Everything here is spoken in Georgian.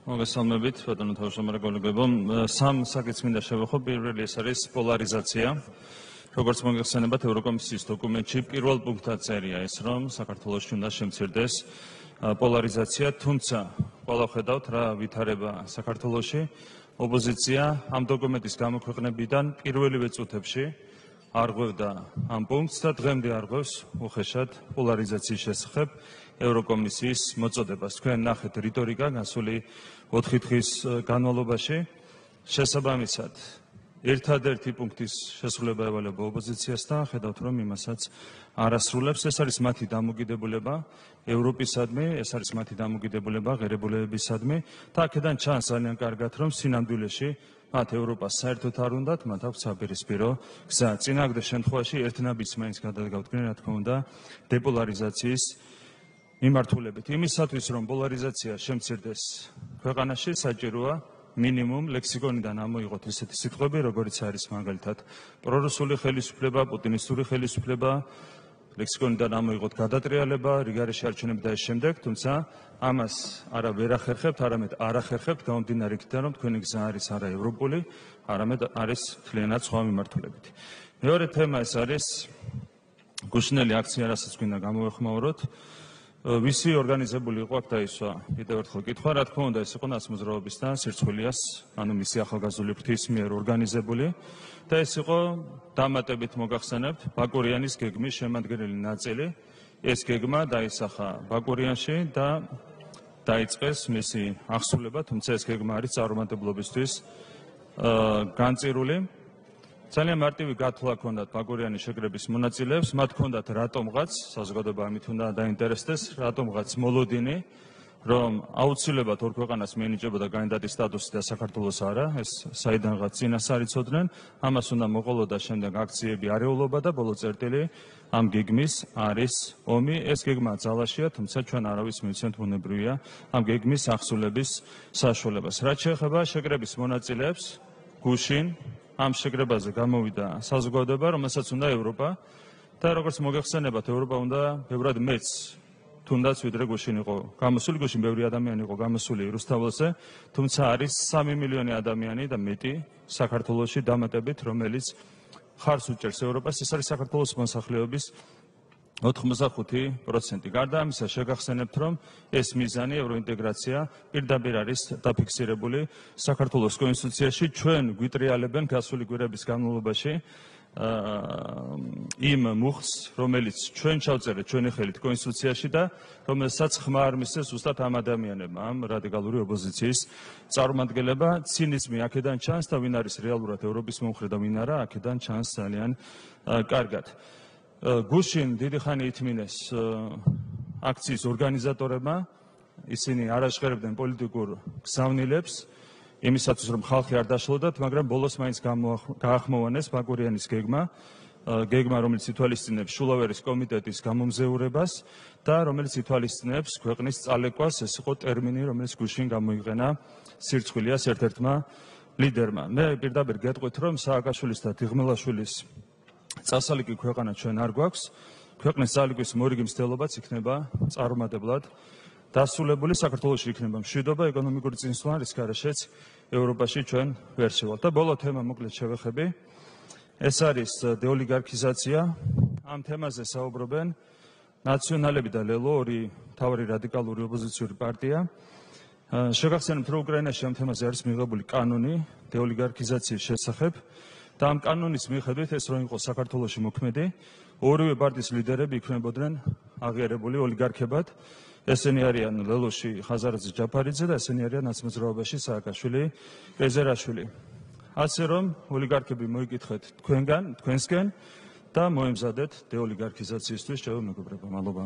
მოგესალმებით, ბატონო თავმჯდომარე გოლეგებო. სამ საკითხს მინდა შევეხო. პირველი ეს არის პოლარიზაცია. როგორც მოგეხსენებათ, ევროკომისიის დოკუმენტში პირველ პუნქტად წერია ეს, რომ საქართველოში უნდა შემცირდეს პოლარიზაცია, თუმცა ყველა ხედავთ რა ვითარება საქართველოში. ოპოზიცია ამ დოკუმენტის გამოქვეყნებიდან პირველივე წუთებში არღვევდა ამ პუნქტს და დღემდე არღვევს უხეშად პოლარიზაციის შესახებ ევროკომისიის მოწოდებას. თქვენ ნახეთ რიტორიკა გასული 4 დღის განმავლობაში. შესაბამისად, ერთადერთი პუნქტის შესრულება ევალება ოპოზიციას და ხედავთ, რომ იმასაც არ ასრულებს. ეს არის მათი დამოკიდებულება ევროპისადმი, ეს არის მათი დამოკიდებულება ღირებულებებისადმი და აქედან ჩანს ძალიან კარგად, რომ სინამდვილეში მათ ევროპას საერთოდ არ უნდათ, მათ აქვს საპირისპირო გზა. წინააღმდეგ შემთხვევაში ერთნაბიჯს მაინც გადადგავდნენ, რა თქმა უნდა, დეპოლარიზაციის მიმართულებით. იმისათვის, რომ პოლარიზაცია შემცირდეს ქვეყანაში, საჭიროა მინიმუმ ლექსიკონიდან ამოიღოთ ისეთი სიტყვები, როგორიც არის მაგალითად პრორუსული ხელისუფლება, პუტინისტური ხელისუფლება, ლექსიკონიდან ამოიღოთ გადატრიალება, რიგარეში არჩევნები და ეს შემდეგ, თუმცა ამას არა ვერ ახერხებთ, არამედ არ ახერხებთ, გამომდინარე იქიდან, რომ თქვენი გზა არის არა ევროპული, არამედ არის მთლიანად სხვა მიმართულებით. მეორე თემა ეს არის გუშინელი აქცია, რასაც გვინდა გამოვეხმაუროთ. ვისი ორგანიზებული იყო აქ დაისვა კიდევ ერთხელ კითხვა, რა თქმა უნდა ეს იყო ნაცმოძრაობის და სირცხვილიას, ანუ მისი ახალგაზრდული ფრთის მიერ ორგანიზებული და ეს იყო დამატებით მოგახსენებთ ბაკურიანის გეგმის შემადგენელი ნაწილი. ეს გეგმა დაისახა ბაკურიანში და დაიწყეს მისი აღსრულება, თუმცა ეს გეგმა არის წარუმატებლობისთვის განწირული. ძალიან მარტივი გათვლა ჰქონდათ ბაკურიანის შეკრების მონაწილეებს, მათ ჰქონდათ რატომღაც, საზოგადოება ამით უნდა დაინტერესდეს, რატომღაც მოლოდინი, რომ აუცილებლად ორ ქვეყანას მიენიჭებოდა კანდიდატის სტატუსი და საქართველოს არა, ეს საიდანღაც წინასწარ იცოდნენ, ამას უნდა მოყოლოდა შემდეგ აქციები, არეულობა და ბოლო წერტილი ამ გეგმის არის ომი. ეს გეგმა ძალაშია, თუმცა ჩვენ არავის მივცემთ ბუნებრივია ამ გეგმის აღსრულების საშუალებას. რაც შეეხება შეკრების მონაწილეებს, გუშინ ამ შეკრებაზე გამოვიდა საზოგადოება, რომელსაც უნდა ევროპა და როგორც მოგეხსენებათ, ევროპა უნდა ბევრად მეც თუნდაც ვიდრე გუშინ იყო გამოსული, გუშინ ბევრი ადამიანი იყო გამოსული რუსთაველზე, თუმცა არის 3 მილიონი ადამიანი და მეტი საქართველოში დამატებით, რომელიც ხარს უჭერს ევროპას. ეს არის საქართველოს მოსახლეობის 85%. გარდა ამისა, შეგახსენებთ, რომ ეს მიზანი ევროინტეგრაცია პირდაპირ არის დაფიქსირებული საქართველოს კონსტიტუციაში. ჩვენ გვიტრიალებენ გასული კვირების განმავლობაში იმ მუხს, რომელიც ჩვენ ჩავწერეთ ჩვენი ხელით კონსტიტუციაში და რომელსაც ხმა არ მისცეს ზუსტად ამ ადამიანებმა, ამ რადიკალური ოპოზიციის წარმომადგენლება. ცინიზმი აქედან ჩანს და ვინ არის რეალურად ევროპის მომხრე და ვინ არა, აქედან ჩანს ძალიან კარგად. გუშინ დიდი ხანი ითმინეს აქციის ორგანიზატორებმა, ისინი არ აშხერებდნენ პოლიტიკურ გზავნილებს იმისათვის, რომ ხალხი არ დაშლოდათ, მაგრამ ბოლოს მაინც გაახმოვანეს ბაკურიანის გეგმა, რომელიც ითვალისწინებს შულავერის კომიტეტის გამომზეურებას და რომელიც ითვალისწინებს ქვეყნის წალეკვას. ეს იყო ტერმინი, რომელიც გუშინ გამოიყენა სირცხვილიას ერთ-ერთმა ლიდერმა. მე პირდაპირ გეტყვით, რომ სააკაშვილის და დიღმელაშვილის წასალიკი ქვეყანა ჩვენ არ გვაქვს. ქვეყნის წალიკვის მორიგი მცდელობაც იქნება წარუმატებლად დასრულებული. საქართველოში იქნება მშვიდობა, ეკონომიკური წინსვლა, რის გარეშეც ევროპაში ჩვენ ვერ შევალთ. და ბოლო თემა მოკლედ შევეხები. ეს არის დეოლიგარქიზაცია. ამ თემაზე საუბრობენ ნაციონალები და ლელო, ორი მთავარი რადიკალური ოპოზიციური პარტია. შეგახსენებთ, რომ უკრაინაში ამ თემაზე არის მიღებული კანონი დეოლიგარქიზაციის შესახებ. და ამ კანონის მიხედვით ეს რომ იყოს საქართველოში მოქმედი, ორივე პარტიის ლიდერები იქმნებოდნენ აღიარებული ოლიგარქებად. ესენი არიან ლელოში ხაზარაძე ჯაფარიძე და ესენი არიან ნაცმოძრაობაში სააკაშვილი, ყეზერაშვილი. ასე რომ ოლიგარქები მოიკითხეთ თქვენსკენ და მოემზადეთ დეოლიგარქიზაციისთვის, მეგობრებო, მადლობა.